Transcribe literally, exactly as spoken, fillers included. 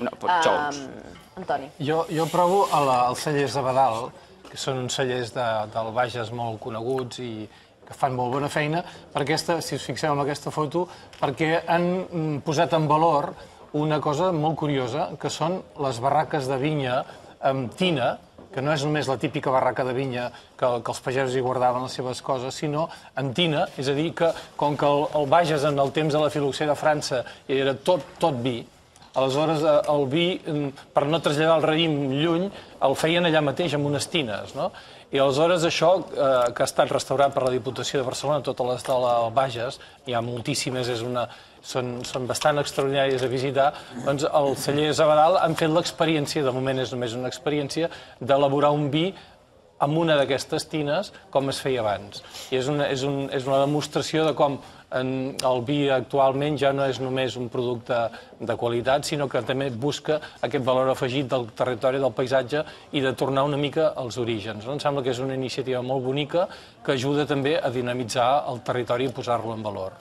No, però xous. Antoni. Jo, jo provo els cellers de Badal, que són uns cellers de, del Bages molt coneguts i que fan molt bona feina, per aquesta, si us fixeu en aquesta foto, perquè han posat en valor una cosa molt curiosa, que són les barraques de vinya amb tina, que no és només la típica barraca de vinya que, que els pagesos hi guardaven les seves coses, sinó amb tina, és a dir, que com que el, el Bages en el temps de la filoxera de França era tot, tot vi, aleshores el vi, per no traslladar el raïm lluny, el feien allà mateix amb unes tines, no? I aleshores això, eh, que ha estat restaurat per la Diputació de Barcelona, tota l'escola del Bages, hi ha moltíssimes, és una, són, són bastant extraordinàries a visitar, doncs els cellers a Badal han fet l'experiència, de moment és només una experiència, d'elaborar un vi amb una d'aquestes tines com es feia abans. I és una, és un, és una demostració de com en el vi actualment ja no és només un producte de qualitat, sinó que també busca aquest valor afegit del territori, del paisatge i de tornar una mica als orígens. Em sembla que és una iniciativa molt bonica que ajuda també a dinamitzar el territori i posar-lo en valor.